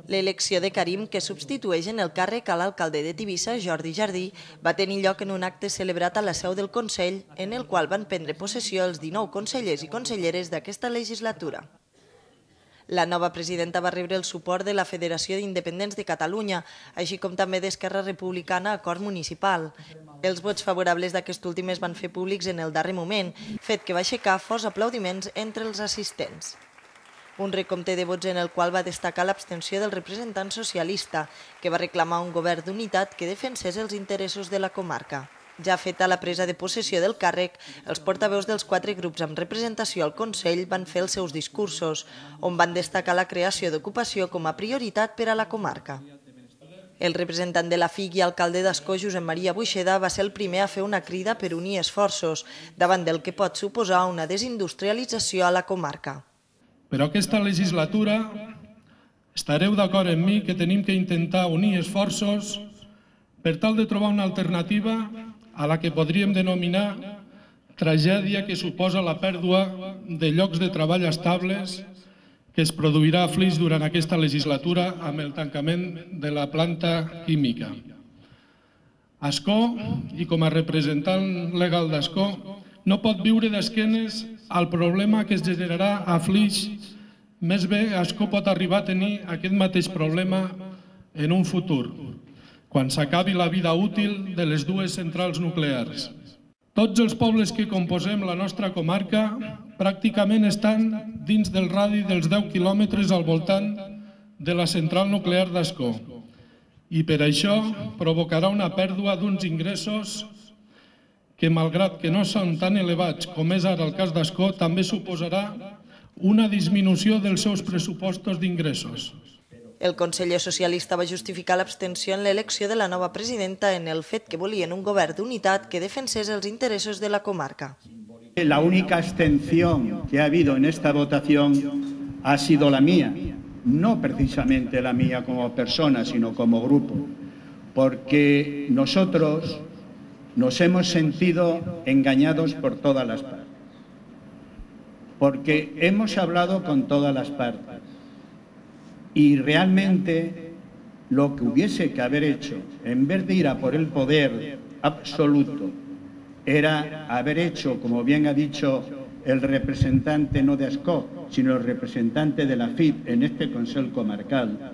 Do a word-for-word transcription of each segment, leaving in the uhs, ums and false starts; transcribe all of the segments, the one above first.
L'elecció de Karim, que substitueix en el càrrec a l'alcalde de Tivissa, Jordi Jardí, va tenir lloc en un acte celebrat a la seu del Consell, en el qual van prendre possessió els dinou consellers i conselleres d'aquesta legislatura. La nova presidenta va rebre el suport de la Federació d'Independents de Catalunya, així com també d'Esquerra Republicana Acord Municipal. Els vots favorables d'aquest últim es van fer públics en el darrer moment, fet que va aixecar forts aplaudiments entre els assistents. Un recompte de vots en el qual va destacar l'abstenció del representant socialista, que va reclamar un govern d'unitat que defensés els interessos de la comarca. Ja feta la presa de possessió del càrrec, els portaveus dels quatre grups amb representació al Consell van fer els seus discursos, on van destacar la creació d'ocupació com a prioritat per a la comarca. El representant de la F I C i alcalde d'Ascó, Josep Maria Buixeda, va ser el primer a fer una crida per unir esforços davant del que pot suposar una desindustrialització a la comarca. Però aquesta legislatura estareu d'acord amb mi que tenim que intentar unir esforços per tal de trobar una alternativa a la que podríem denominar tragèdia que suposa la pèrdua de llocs de treball estables que es produirà a Flix durant aquesta legislatura amb el tancament de la planta química. Ascó, i com a representant legal d'Ascó, no pot viure d'esquenes al problema que es generarà a Flix. Més bé, Ascó pot arribar a tenir aquest mateix problema en un futur, quan s'acabi la vida útil de les dues centrals nuclears. Tots els pobles que composem la nostra comarca pràcticament estan dins del radi dels deu quilòmetres al voltant de la central nuclear d'Ascó i per això provocarà una pèrdua d'uns ingressos que, malgrat que no són tan elevats com és ara el cas d'Ascó, també suposarà una disminució dels seus pressupostos d'ingressos. El conseller socialista va justificar l'abstenció en l'elecció de la nova presidenta en el fet que volien un govern d'unitat que defensés els interessos de la comarca. La única abstención que ha habido en esta votación ha sido la mía, no precisamente la mía como persona, sino como grupo, porque nosotros nos hemos sentido engañados por todas las partes, porque hemos hablado con todas las partes. Y realmente lo que hubiese que haber hecho, en vez de ir a por el poder absoluto, era haber hecho, como bien ha dicho el representante no de Ascó, sino el representante de la F I P en este Consejo Comarcal,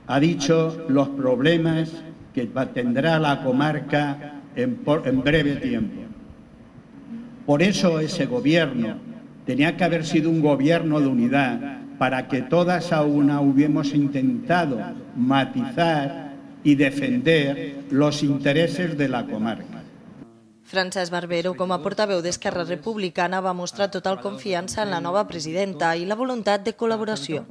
ha dicho los problemas que tendrá la comarca en, por, en breve tiempo. Por eso ese gobierno tenía que haber sido un gobierno de unidad, para que todas a una hubiéramos intentado matizar y defender los intereses de la comarca. Francesc Barbero, com a portaveu d'Esquerra Republicana, va mostrar total confiança en la nova presidenta i la voluntat de col·laboració.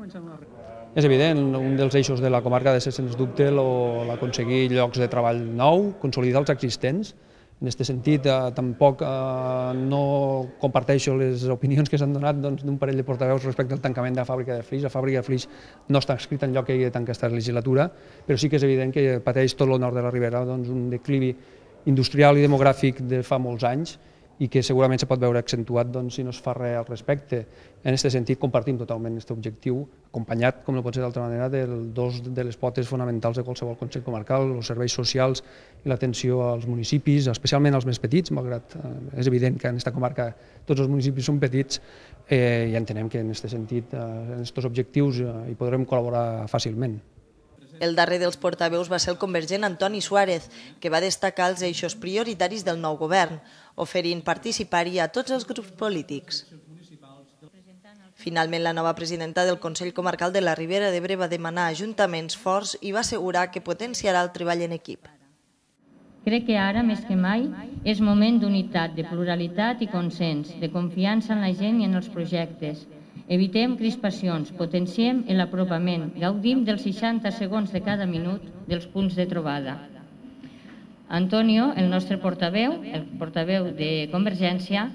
És evident, un dels eixos de la comarca ha de ser, sens dubte, l'aconseguir llocs de treball nou, consolidar els existents. En aquest sentit, eh, tampoc eh, no comparteixo les opinions que s'han donat d'un doncs, parell de portaveus respecte al tancament de la fàbrica de Flix. La fàbrica de Flix no està escrit en lloc que hi ha de tancar aquesta legislatura, però sí que és evident que pateix tot el nord de la Ribera doncs, un declivi industrial i demogràfic de fa molts anys i que segurament se pot veure accentuat doncs, si no es fa res al respecte. En aquest sentit, compartim totalment aquest objectiu, acompanyat, com no pot ser d'altra manera, de dos de les potes fonamentals de qualsevol Consell Comarcal, els serveis socials i l'atenció als municipis, especialment als més petits, malgrat eh, és evident que en aquesta comarca tots els municipis són petits, eh, i entenem que en aquest sentit, eh, en aquests objectius, eh, hi podrem col·laborar fàcilment. El darrer dels portaveus va ser el convergent Antoni Suárez, que va destacar els eixos prioritaris del nou govern, oferint participar-hi a tots els grups polítics. Finalment, la nova presidenta del Consell Comarcal de la Ribera d'Ebre va demanar ajuntaments forts i va assegurar que potenciarà el treball en equip. Crec que ara, més que mai, és moment d'unitat, de pluralitat i consens, de confiança en la gent i en els projectes. Evitem crispacions, potenciem l'apropament, gaudim dels seixanta segons de cada minut dels punts de trobada. Antonio, el nostre portaveu, el portaveu de Convergència,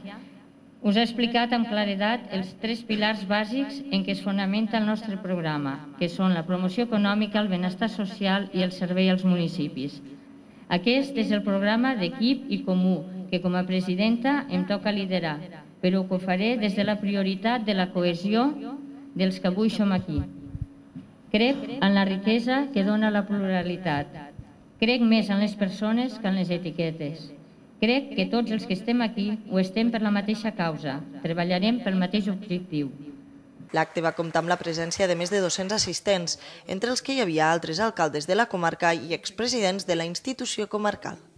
us ha explicat amb claredat els tres pilars bàsics en què es fonamenta el nostre programa, que són la promoció econòmica, el benestar social i el servei als municipis. Aquest és el programa d'equip i comú que com a presidenta em toca liderar, però que ho faré des de la prioritat de la cohesió dels que avui som aquí. Crec en la riquesa que dona la pluralitat. Crec més en les persones que en les etiquetes. Crec que tots els que estem aquí ho estem per la mateixa causa. Treballarem pel mateix objectiu. L'acte va comptar amb la presència de més de dos-cents assistents, entre els que hi havia altres alcaldes de la comarca i expresidents de la institució comarcal.